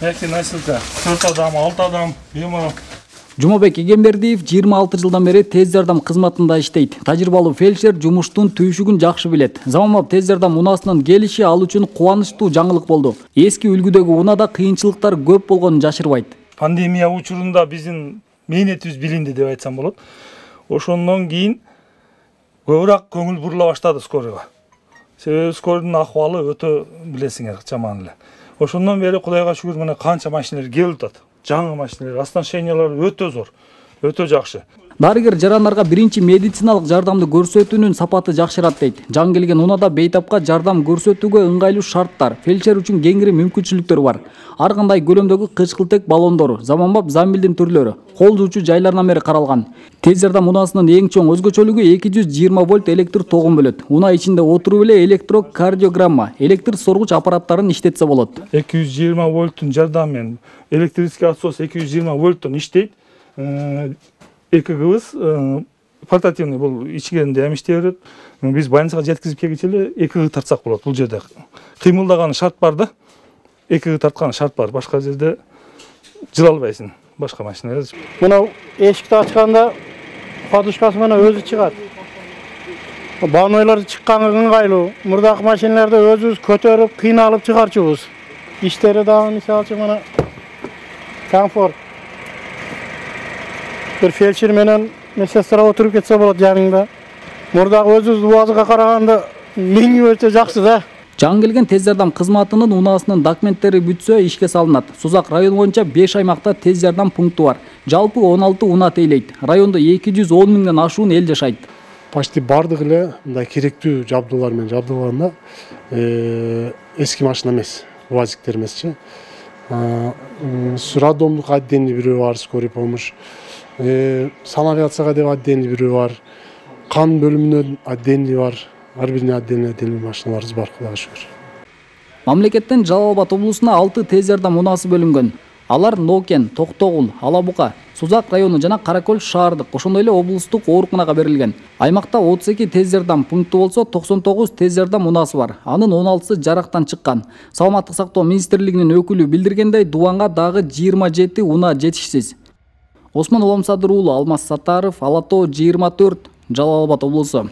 Яки носилка 4 адам, 6 адам, беморал. Жумабек Эгембердиев 26 жылдан бери тез жардам кызматында иштейт. Тажрыйбалуу фельдшер жумуштун түйшүгүн жакшы билет. Заманбап тез жардам унаасынын келиши ал үчүн кубанычтуу жаңылык болду. Эски үлгүдөгү унада кыйынчылыктар көп болгонун жашырбайт. Пандемия учурунда биздин мээнетибиз билинди деп айтсам болот. Ошондон кийин көбүрөөк көңүл бурула баштады скорыйга. Себеби скорыйдун акыбалы өтө билесиңер жаман эле. Ошондон бери Кудайга шүгүр мына канча машиналар келип атат. Жаңы машиналар, оснащениялары өтө зор, өтө жакшы. Дарыгер жарандарга биринчи медициналык жардамды көрсөтүүнүн сапаты жакшырат дейт. Жан келген унада бейтапка жардам көрсөтүүгө ыңгайлуу шарттар, фельдшер үчүн кеңири мүмкүнчүлүктөр бар. Ар кандай көлөмдөгү кычкылтек баллондор, заманбап замбилдин түрлөрү, кол жуучу жайларынан бери каралган. Тез жардам унаасынын эң чоң өзгөчөлүгү 220 вольт электр тогун бөлөт. Унаа ичинде отуруп эле электрокардиограмма, электр соргуч аппараттарын иштетсе болот. 220 вольттун жардамы менен электрический отсос 220 вольттон иштейт. Эки кыбыз портативный бул ичкенде эми иштей берет. Биз больницага жеткизип келгиче эле эки тартсак болот. Бул жерде кыймылдаган шарт бар да. Эки тарткан шарт бар. Башка жерде жыла албайсың. Башка машина. Мына эшикти ачканда подушкасы менен өзү чыгат. Банойлор чыкканга ыңгайлуу. Мурдакы машиналарда өзүбүз көтөрүп, кыйналып чыгарчубуз. Иштери дагы мисалы үчүн мына комфорт. Bir felçer менен медсестра отуруп кетсе болот жаныңда. Мурдагы өзүбүз убазыга караганда миң өтө жакшы да. Жан келген тез жардам кызматынын унаасынын документтери бүтсө ишке салынат. Созак району боюнча 5 аймакта тез жардам пункту бар. Жалпы 16 унаа тейлейт. Райондо 210 миңден ашуун эл жашайт. Почти бардык эле мындай керектүү жабдуулар менен жабдуулганда эски машина эмес, УАЗиктер эмесчи. Роддомдук отдельный бирөө бар, скорый помощь. Санавиацияга деп отдельный бирөө бар. Кан бөлүмүнө отдельный бар. Ар бирине отдельный машиналарыбыз бар, Кудайга шүгүр. Мамлекеттен Жалал Абад облусуна 6 тез жардам унаасы бөлүнгөн. Алар Нокен, Токтогул, Алабука, Созак району жана Каракөл шаардык, ошондой эле облустук ооруканага берилген. Аймакта 32 тез жардам пункту болсо, 99 тез жардам унаасы бар. Анын 16сы жарактан чыккан. Саламаттык сактоо министрлигинин өкүлү билдиргендей, Дубанга дагы 27 унаа жетишсиз. Осмон Уламсадыр уулу, Алмаз Саттаров, Ала Тоо 24, Жалал Абад облусу.